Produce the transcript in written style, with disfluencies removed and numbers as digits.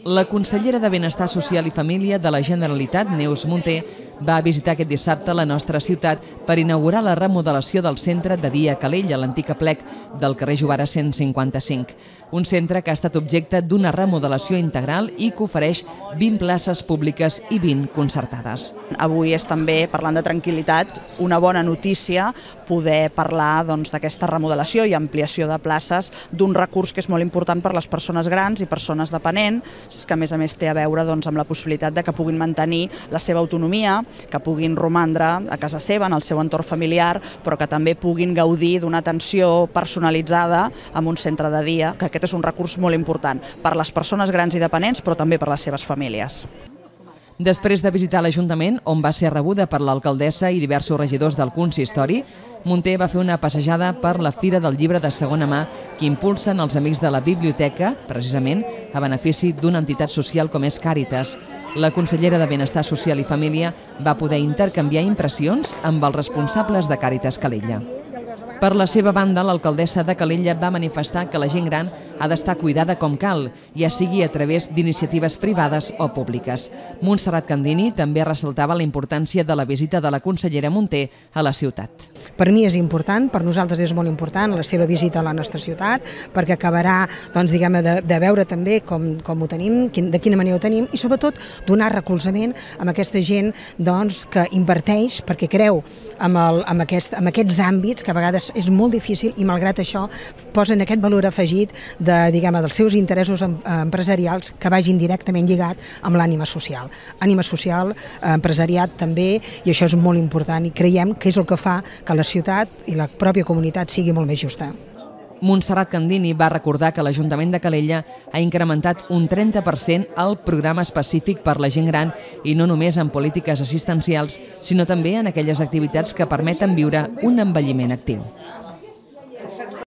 La consellera de Benestar Social i Família de la Generalitat, Neus Munté, va visitar aquest dissabte la nostra ciutat per inaugurar la remodelació del centre de dia Calella, l'antic aplec del carrer Jovara 155. Un centre que ha estat objecte d'una remodelació integral i que ofereix 20 places públiques i 20 concertades. Avui és també, parlant de tranquil·litat, una bona notícia poder parlar d'aquesta remodelació i ampliació de places d'un recurs que és molt important per a les persones grans i persones dependents, que a més té a veure amb la possibilitat de que puguin mantenir la seva autonomia, que puguin romandre a casa seva, en el seu entorn familiar, però que també puguin gaudir d'una atenció personalitzada en un centre de dia, que aquest és un recurs molt important per a les persones grans i dependents, però també per a les seves famílies. Després de visitar l'Ajuntament, on va ser rebuda per l'alcaldessa i diversos regidors del consistori, Munté va fer una passejada per la Fira del Llibre de Segona Mà que impulsen els Amics de la Biblioteca, precisament a benefici d'una entitat social com és Càritas. La consellera de Benestar Social i Família va poder intercanviar impressions amb els responsables de Càritas Calella. Per la seva banda, l'alcaldessa de Calella va manifestar que la gent gran ha d'estar cuidada com cal, ja sigui a través d'iniciatives privades o públiques. Montserrat Candini també ressaltava la importància de la visita de la consellera Munté a la ciutat. Per mi és important, per nosaltres és molt important la seva visita a la nostra ciutat, perquè acabarà de veure també com ho tenim, de quina manera ho tenim, i sobretot donar recolzament a aquesta gent que inverteix perquè creu en aquests àmbits que a vegades és molt difícil i malgrat això posen aquest valor afegit dels seus interessos empresarials que vagin directament lligat amb l'ànima social. Ànima social, empresariat també, i això és molt important i creiem que és el que fa que la ciutat i la pròpia comunitat sigui molt més justa. Montserrat Candini va recordar que l'Ajuntament de Calella ha incrementat un 30% el programa específic per la gent gran i no només en polítiques assistencials, sinó també en aquelles activitats que permeten viure un envelliment actiu.